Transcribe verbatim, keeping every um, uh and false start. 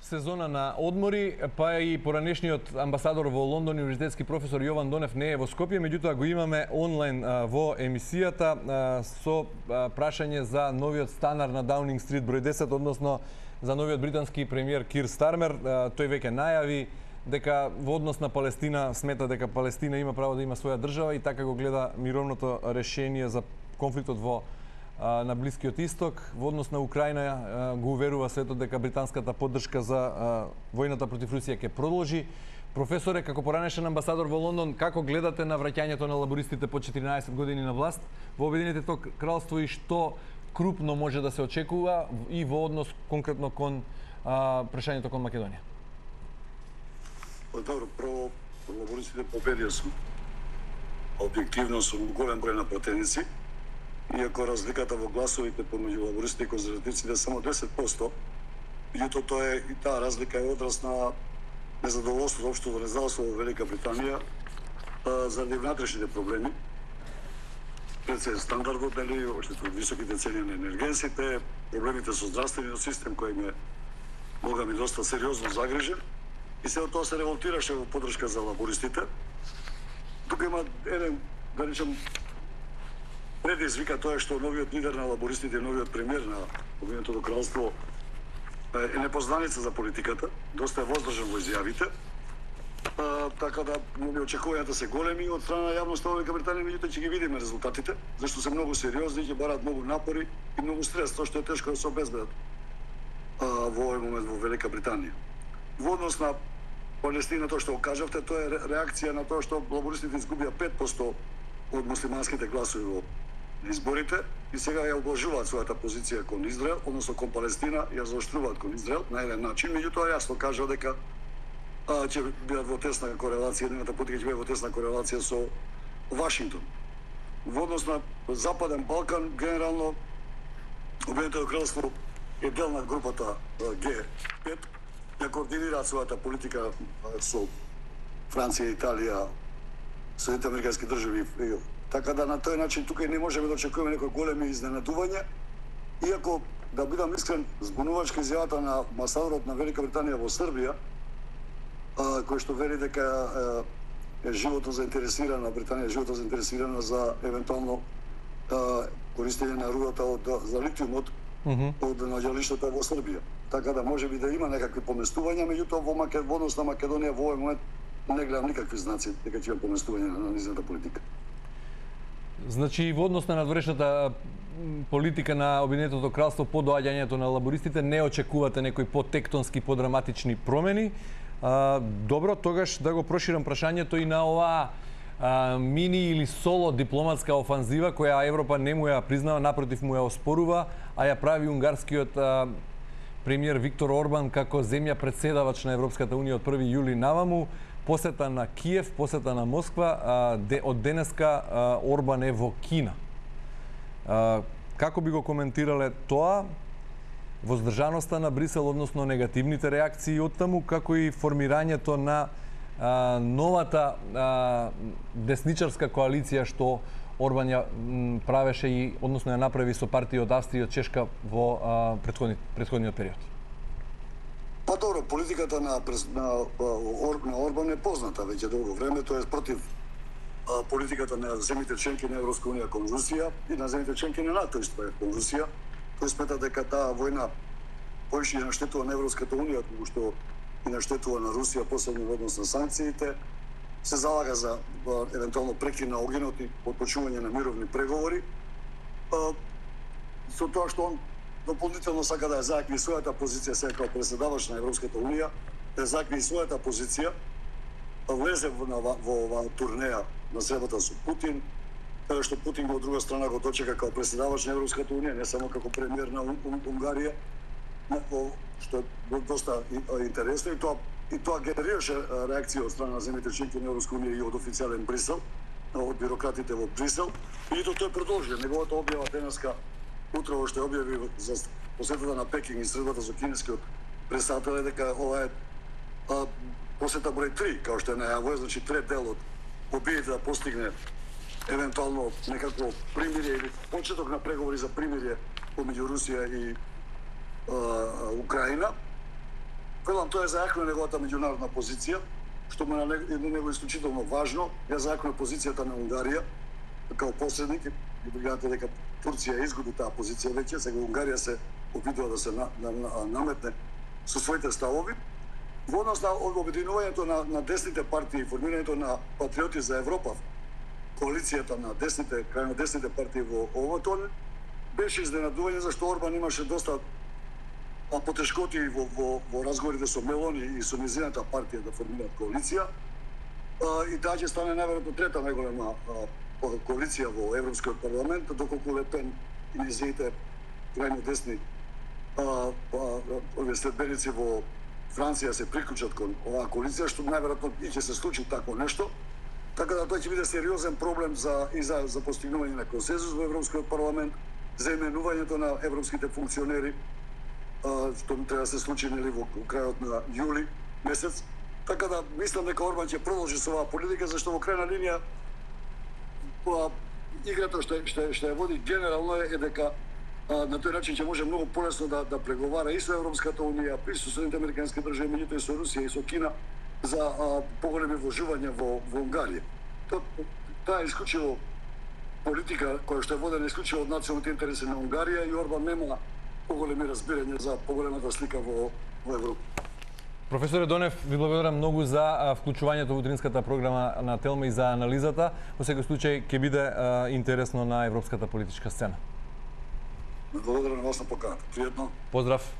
сезона на одмори, па и поранешниот амбасадор во Лондон, универзитетски професор Јован Донев не е во Скопје, меѓутоа го имаме онлайн во емисијата со прашање за новиот станар на Даунинг Стрит број десет, односно за новиот британски премиер Кир Стармер. Тој веќе најави дека во однос на Палестина смета дека Палестина има право да има своја држава и така го гледа мировното решение за конфликтот во на Блискиот Исток. Во однос на Украина го уверува светот дека британската поддршка за војната против Русија ќе продолжи. Професоре, како поранешен амбасадор во Лондон, како гледате на враќањето на лабористите по четиринаесет години на власт во Обединетото кралство и што крупно може да се очекува и во однос конкретно кон а, прашањето кон Македонија? Добро, прво, лабористите победија су. Објективно су голем број на пратеници. Иако разликата во гласовите помеѓу лабористите и конзервативците е само десет проценти, меѓутоа тоа е и таа разлика е одраз на незадоволството општо во независност во Велика Британија заради внатрешните проблеми. Пред се стандардот, нели, општо високите цени на енергенсите, проблемите со здравствениот систем кој им е бога ми доста сериозно загрижен и се од тоа се револтираше во поддршка за лабористите. Тука има еден, да речем, предизвика тоа што новиот лидер на лабористите, новиот премиер на Обединетото кралство е непознаница за политиката, доста е воздржан во изјавите. А, така да нели очекувањата се големи од страна на јавноста во Велика Британија, меѓутоа ќе ги видиме резултатите, зашто се многу сериозни, ќе бараат многу напори и многу стрес, тоа што е тешко да се обезбедат а, во овој момент во Велика Британија. Во однос на Палестина, тоа што го кажавте, тоа е реакција на тоа што лабористите изгубија пет проценти од муслиманските гласови во изборите и сега ја облажуваат својата позиција кон Израел, односно кон Палестина, ја заоштруваат кон Израел на еден начин, меѓутоа јасно кажа дека а, ќе бидат во тесна корелација, едната политика ќе биде во тесна корелација со Вашингтон. Во однос на Западен Балкан, генерално Обединетото кралство е дел на групата Г пет, ја координираат својата политика со Франција, Италија, Соединените американски држави. Така да на тој начин тука не можеме да очекуваме некои големи изненадувања, иако, да бидам искрен, збунувачка изјавата на амбасадорот на Велика Британија во Србија, а, кој што вели дека е, е животно заинтересирана, Британија е животно заинтересирана за евентуално а, користење на рудата од, за литиумот mm -hmm. од наѓалиштата во Србија. Така да може би да има некакви поместувања, меѓутоа во Македонија, на Македонија во овој момент не гледам никакви знаци дека ќе има поместување на низната политика. Значи, во однос на надворешната политика на Обединетото кралство по доаѓањето на лабористите не очекувате некои потектонски, подраматични промени. А, добро, тогаш да го проширам прашањето и на оваа а, мини или соло дипломатска офанзива која Европа не му ја признава, напротив му ја оспорува, а ја прави унгарскиот а, премиер Виктор Орбан како земја председавач на Европската унија од први јули наваму. Посета на Киев, посета на Москва, а, де, од денеска а, Орбан е во Кина. А, како би го коментирале тоа, воздржаноста на Брисел, односно негативните реакции од таму, како и формирањето на а, новата а, десничарска коалиција што Орбан ја м, правеше и, односно ја направи со партија од Австрија и од Чешка во а, предходни, предходниот период? Па добро, политиката на, на, на Орбан е позната веќе долго време, тоа е против а, политиката на земјите членки на Европска унија кон Русија и на земјите членки на НАТО исто е кон Русија. Тој смета дека таа војна поише наштетува на Европската унија, туку што и наштетува на Русија, посебно во однос на санкциите. Се залага за а, евентуално прекин на огненот и отпочнување на мировни преговори. А, со тоа што он дополнително сака да ја зајакни својата позиција сега како председавач на Европската унија, да зајакни својата позиција, влезе во, во, во ова турнеја на средбата со Путин, каде што Путин од друга страна го дочека како председавач на Европската унија, не само како премиер на Унгарија, што е доста интересно и тоа и тоа генерираше реакција од страна на земјите членки на Европска унија и од официјален Брисел, од бирократите во Брисел, и тоа тој продолжи. Неговата објава денеска утрово што објави за посетата на Пекинг и средбата со кинескиот председател е дека ова е а, посета број три, као што е најавува, значи трет дел од обидите да постигне евентуално некакво примирие или почеток на преговори за примирие помеѓу Русија и а, Украина. велам, тоа е за јакна неговата меѓународна позиција, што му е на него исклучително важно, е за јакна позицијата на Унгарија, као посредник, и гледате дека Турција изгуби таа позиција веќе, сега Унгарија се обидува да се на, на, на, наметне со своите ставови. Во однос на обединувањето на, на десните партии, формирањето на Патриоти за Европа, коалицијата на десните, крајно десните партии во овото, беше изненадување зашто Орбан имаше доста а, потешкоти во, во, во разговорите со Мелони и со низината партија да формираат коалиција. А, и таа ќе стане најверојатно трета најголема а, коалиција во Европскиот парламент, доколку Ле Пен и низините крајно десни а, а, следбеници во Франција се приклучат кон оваа коалиција, што најверојатно и ќе се случи такво нешто. Така да тоа ќе биде сериозен проблем за и за, за постигнување на консензус во Европскиот парламент, за именувањето на европските функционери, а, што треба да се случи нели во крајот на јули месец. Така да мислам дека Орбан ќе продолжи со оваа политика, зашто во крајна линија па, играта што што што ја води генерално е дека а, на тој начин ќе може многу полесно да да преговара и со Европската унија, и со Соединетите американски држави, меѓутоа и со Русија и со Кина за а, поголеми вложувања во во Унгарија. Тоа таа е исклучиво политика која што е водена исклучиво од националните интереси на Унгарија и Орбан нема поголеми разбирања за поголемата слика во во Европа. Професоре Донев, ви благодарам многу за вклучувањето во утринската програма на Телма и за анализата. Во секој случај ќе биде а, интересно на европската политичка сцена. Благодарам на вас на поканата. Пријатно. Поздрав.